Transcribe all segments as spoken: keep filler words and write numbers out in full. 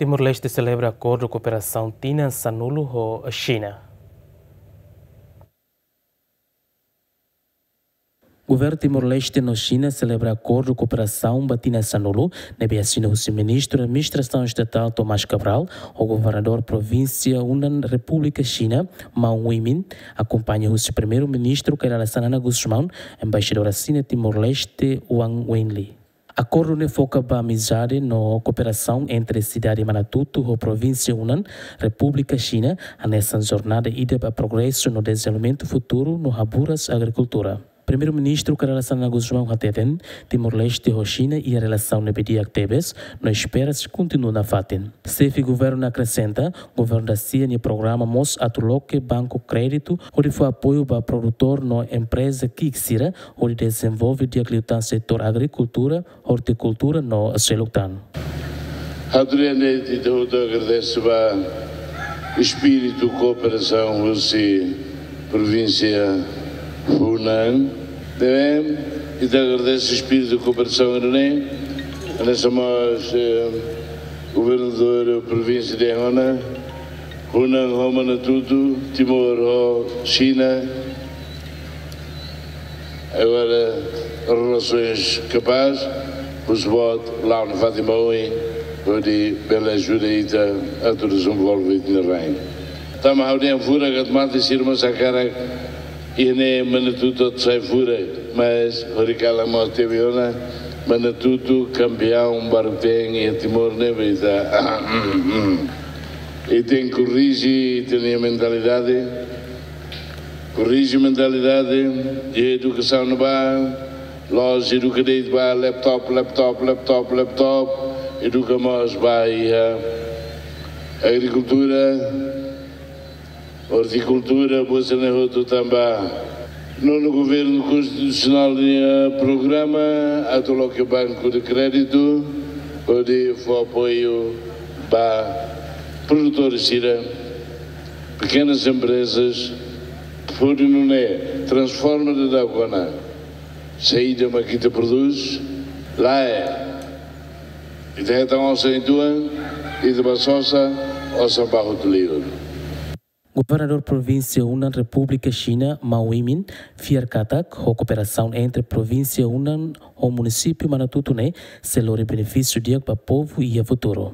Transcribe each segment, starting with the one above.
Timor-Leste selebra akordu kooperasaun tinan sanulu ho Xina. Governu Timor-Leste no Xina selebra akordu kooperasaun ba tinan sanulu, ne'ebé asina husi Ministru Administrasaun Estatál Tomás Cabral ho Governadór Provínsia Hunan Repúblika Xina, Mao Weimin, akompaña husi Primeiru-Ministru Kay Rala Xanana Gusmão, Embaixadór Xina Timor-Leste, Wang Wenli. Akordu ne'e foka ba amizade no kooperasaun entre sidade Manatuto ho Provínsia Hunan, Repúblika Xina, hanesan jornada ida ba progresu no dezenvolvimentu futuru no haburas agrikultura. Primeiru-Ministru Kay Rala Xanana Gusmão hateten, Timor-Leste ho Xina iha relasaun ne'ebé di'ak tebes, no espera sei kontinua nafatin. Xefe Governu akresenta, Governu da-sia nia programa mós atu loke banku kréditu hodi fó apoiu ba produtór no empreza ki'ik sira hodi dezenvolve di'ak liután setór agrikultura, ortikultura no seluk tan. Ha'u ita hotu agradese ba espíritu kooperasaun husi Provínsia Hunan. Ne'ebé ita agradese espíritu kooperasaun ne'e, hanesan mós, eh, Governadór Provínsia de Hunan, Hunan ho Manatuto, Timor ho Xina. Agora, relasaun kapás, husi boot la'o nafatin ba oin, hodi bele ajuda ita atu dezenvolve ita-nia rain. Tanba ha'u dehan furak, atu mate sira mós hakarak, iha ne'e Manatuto atu sai furak, mas hori kala mós tebes ona, Manatuto kampiaun barak ten iha Timor ne'e, ita, ita tenke korrije ita-nia mentalidade, korrije mentalidade, iha edukasaun ne'ebá, la'ós eduka de'it ba laptop, laptop, laptop, laptop, eduka mós ba iha agrikultura, ortikultura, buat sira-ne'e hotu tanba Nonu Governu Konstitusionál nia programa atu loke banku de kréditu hodi fó apoiu ba produtór sira, pekenas emprezas, hodi nune'e transforma daudaun ona saida mak ita prodús, lae, ita hetan osan uitoan, ita bá sosa, osan bá hotu liur. Governadór Provínsia Hunan Repúblika Xina, Mao Weimin, fiar katak ho kooperasaun entre Provínsia Hunan ho Munisípiu Manatuto ne'e sei lori benefísiu di'ak ba povu iha futuru.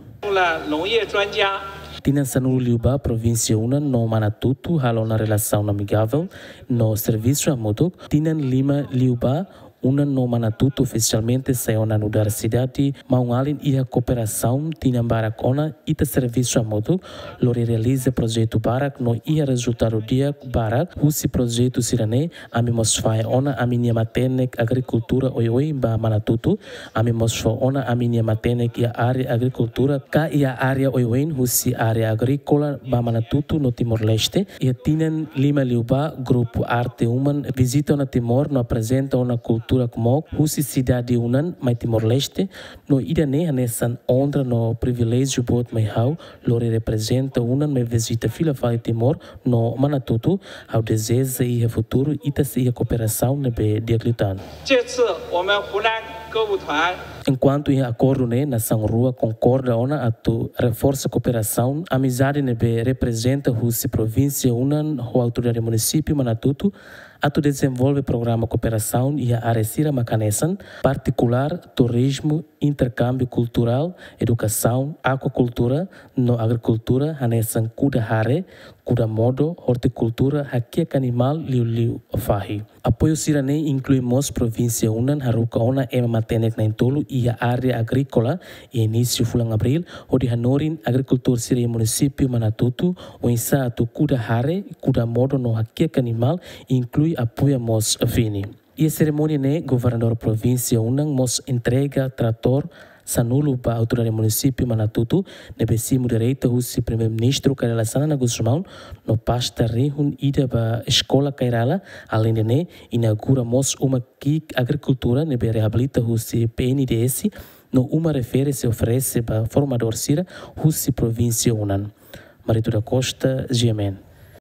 Tinan sanulu liubá Provínsia Hunan no Manatuto halo ona relasaun amigavel no servisu hamutuk. Tinan lima liubá Hunan no Manatuto ofisialmente sai ona nu'udar sidade maun-alin iha kooperasaun tinan barak ona ita servisu hamutuk, lori realiza projetu barak no iha rezultadu di'ak barak husi projetu sira-ne'e. Ami mós fahe ona ami-nia matenek agrikultura oioin ba Manatuto, ami mós fó ona ami-nia matenek iha área agrikultura ka iha área oioin husi área agríkola ba Manatuto no Timor-Leste. Iha tinan lima liubá, grupu Arte Human vizita ona Timor no aprezenta ona kultura kmook husi sidade Hunan mai Timor-Leste, no ida-ne'e hanesan onra no priviléjiu boot mai ha'u, lori reprezenta Hunan mai vizita fila fali Timor no Manatuto. Ha'u dezeja iha futuru ita sei iha kooperasaun ne'ebé di'ak liután. 这次我们湖南歌舞团 Enkuantu iha akordu ne'e, nasaun rua konkorda ona atu reforsa kooperasaun amizade ne'ebé reprezenta husi Provínsia Hunan ho Autoridade Munisípiu Manatuto atu dezenvolve programa kooperasaun iha área sira mak hanesan, partikulár, turizmu, interkámbiu kulturál, edukasaun, akuakultura no agrikultura, hanesan kuda hare, kuda modo, ortikultura, hakiak animál, liuliu fahi. Apoiu sira-ne'e inklui mós Provínsia Hunan haruka ona ema matenek na'in-tolu iha área agríkola iha inísiu fulan Abríl, hodi hanorin agrikultór sira iha Munisípiu Manatuto oinsá atu kuda hare, kuda modo no hakiak animál, inklui apoia mós fini. Iha serimónia ne'e, Governadór Provínsia Hunan mós entrega tratór sanulu ba Autoridade Munisípiu Manatuto, ne'ebé simu direta husi Primeiru-Ministru Kay Rala Xanana Gusmão, no pasta rihun ida ba Eskola Kay Rala, aleinde ne'e, inaugura mós uma ki'ik agrikultura ne'ebé reabilita husi P N D S, no uma refere sei oferese ba formadór sira husi Provínsia Hunan. Marito da Costa, G M N.